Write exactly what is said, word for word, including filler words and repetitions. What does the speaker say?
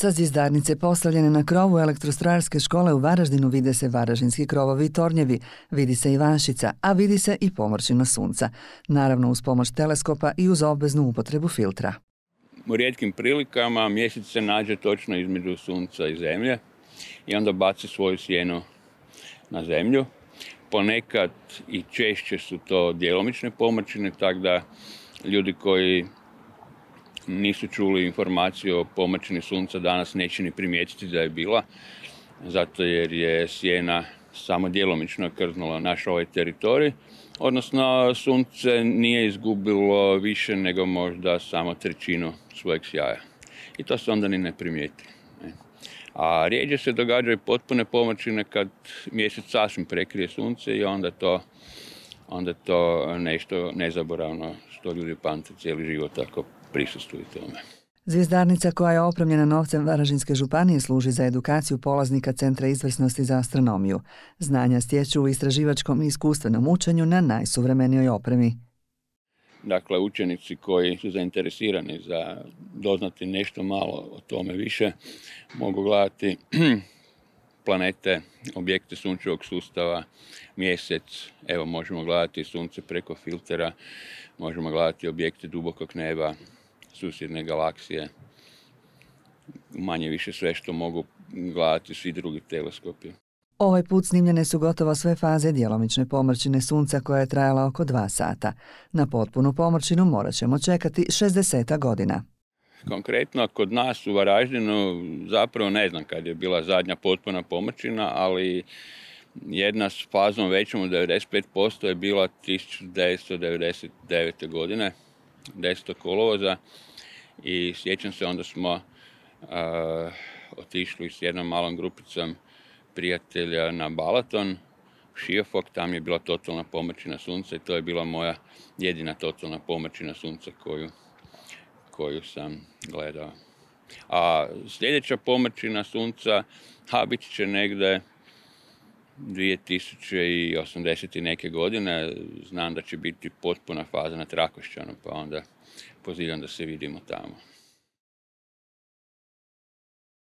Sa zvjezdarnice postavljene na krovu elektrostrojarske škole u Varaždinu vide se varaždinski krovovi i tornjevi, vidi se Ivanščica, a vidi se i pomrčina sunca. Naravno uz pomoć teleskopa i uz obveznu upotrebu filtra. U rijetkim prilikama mjesec se nađe točno između sunca i zemlje i onda baci svoju sjenu na zemlju. Ponekad i češće su to djelomične pomrčine, tako da ljudi koji nisu čuli informaciju o pomrčini sunca danas neće ni primijetiti da je bila, zato jer je sjena samo djelomično krznula naš ovaj teritorij, odnosno sunce nije izgubilo više nego možda samo trećinu svojeg sjaja. I to se onda ni ne primijeti. A rijeđe se događaju potpune pomrčine kad mjesec sasvim prekrije sunce i onda to, onda to nešto nezaboravno što ljudi pamte cijeli život ako prisustuju tome. Zvjezdarnica koja je opremljena novcem Varaždinske županije služi za edukaciju polaznika Centra izvrsnosti za astronomiju. Znanja stječu u istraživačkom i iskustvenom učenju na najsuvremenijoj opremi. Dakle, učenici koji su zainteresirani za doznati nešto malo o tome više mogu gledati planete, objekte sunčevog sustava, mjesec, evo možemo gledati sunce preko filtera, možemo gledati objekte dubokog neba, susjedne galaksije, manje više sve što mogu gledati svi drugi teleskopi. Ovaj put snimljene su gotovo sve faze djelomične pomrčine sunca koja je trajala oko dva sata. Na potpunu pomrčinu morat ćemo čekati šezdeset godina. Konkretno kod nas u Varaždinu zapravo ne znam kad je bila zadnja potpuna pomrčina, ali jedna s fazom većom od devedeset pet posto je bila tisuću devetsto devedeset devete. godine, desetog kolovoza, i sjećam se, onda smo uh, otišli s jednom malom grupicom prijatelja na Balaton, u Šiofok, tam je bila totalna pomrčina sunca i to je bila moja jedina totalna pomrčina sunca koju, koju sam gledao. A sljedeća pomrčina sunca, ha, bit će negdje dvije tisuće osamdeset i neke godine. Znam da će biti potpuna faza na Trakošćanu, pa onda pozivam da se vidimo tamo.